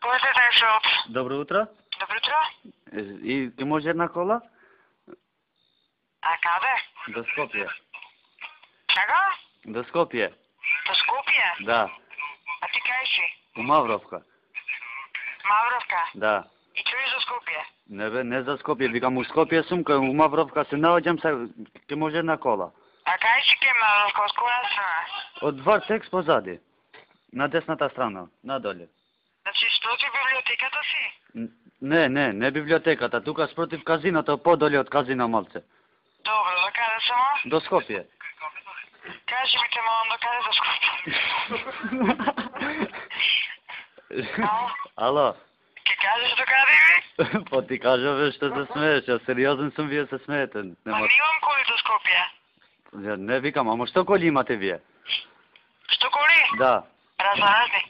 Кој се таксот? Добро утро. Добро утро. И ќе може една кола? А каде? До Скопје. Чага? До Скопје. До Скопје? Да. А ти кај си? У Мавровка. Мавровка? Да. И чуеш за Скопје? Не бе, не за Скопје, викам у Скопје сум, кај у Мавровка се наоѓам, ќе може една кола. А кај си ке Мавровка? Од која страна? Од Вартекс позади. На десната страна, надоле. Значи, спротив библиотеката си? Не библиотеката, тука спротив казиното, подоле од казино малце. Добро, до каде само? До Скопје. Кажи ми те малам до каде до Скопје? Ало. Ке кажеш до каде ми? Па ти кажа, што се смееш, ја сериозен сум, вие се смеете. Па немам коли до Скопје. Не викам, ама што коли имате вие? Што коли? Да. Разноразни.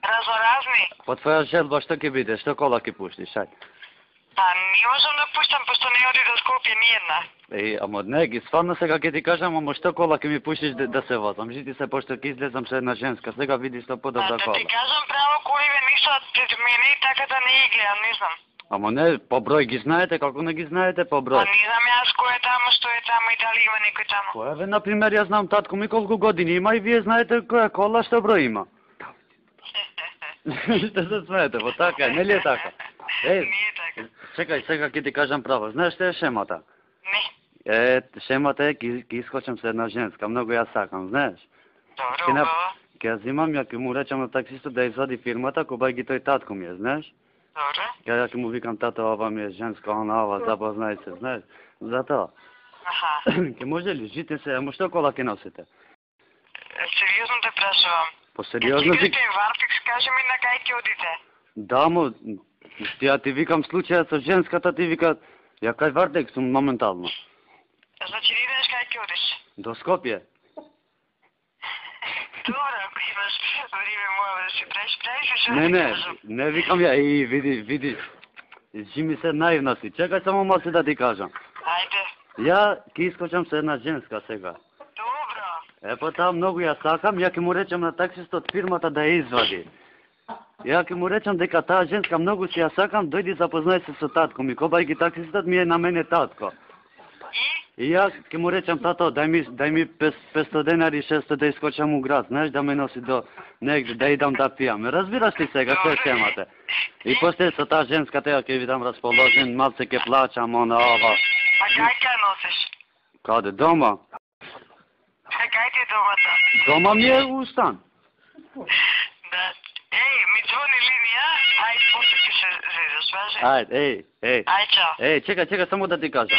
Разноразни. По твоја желба што ќе биде, што кола ќе пуштиш, ај? Па не можам да пуштам, пошто не оди до Скопје ни една. Ама не, ги стварно сега ќе ти кажам, ама што кола ќе ми пуштиш да се возам? Жити се, пошто ќе излезам со една женска, сега види што подобра кола. Да ти кажам право, коливе ништо пред мене и така да не ги гледам, не знам. Ама не, по број ги знаете, како не ги знаете по број? Па не знам јас кој е таму, што е таму и дали има некој таму. Која бе, например, јас знам татко ми колку години има и вие знаете која кола, што број има. Што се смеете, во така е, нели е така? Не е така. Чекај, сега ќе ти кажам право. Знаеш што е шемата? Не. Шемата е, ќе искочам со една женска, многу ја сакам, знаеш? Добро, убаво. Ќе ја зимам, ја ќе му речам на таксистот да извади фирмата, кога ги тој татко ми е, знаеш? Добро. Ја ќе му викам, тато, ова ми е женска, она, ова, запознај се, знаеш? Затоа. Аха. Ќе може ли, жите се, ама што кола ќе носите? Сериозно те прашувам. По сериозно ти... Ќе Вартекс, кажи ми на кај ќе одите? Да, мо, ја ти викам случајот со женската, ти вика, ја кај Вартекс сум моментално. Значи не идеш кај ќе одиш? До Скопје. Добро, ако имаш време мое да се прави се Не викам ја, види, ми се наивна си, чекај само малце да ти кажам. Ајде. Ја ќе искочам со една женска сега. Добро. Па таа многу ја сакам, ја ќе му речам на таксистот фирмата да ја извади. Ја ќе му речам дека таа женска многу си ја сакам, дојди запознај се со татко ми, кобајќи таксистот ми е на мене татко. И ја ќе му речам, тато, дај ми 500 денари, 600 да искочам у град, знаеш, да ме носи до негде, да идам да пијам. Разбираш ли сега, што е темата? И после со таа женска тега ќе видам расположен, малце ќе плачам, она, ова. А кај ќе носиш? Каде, дома? А кај ти е домата? Дома ми е у стан. Да. Ми звони линија, ајде, после ќе се звезеш, важи? Ајде, Ај, чекај, само да ти кажам.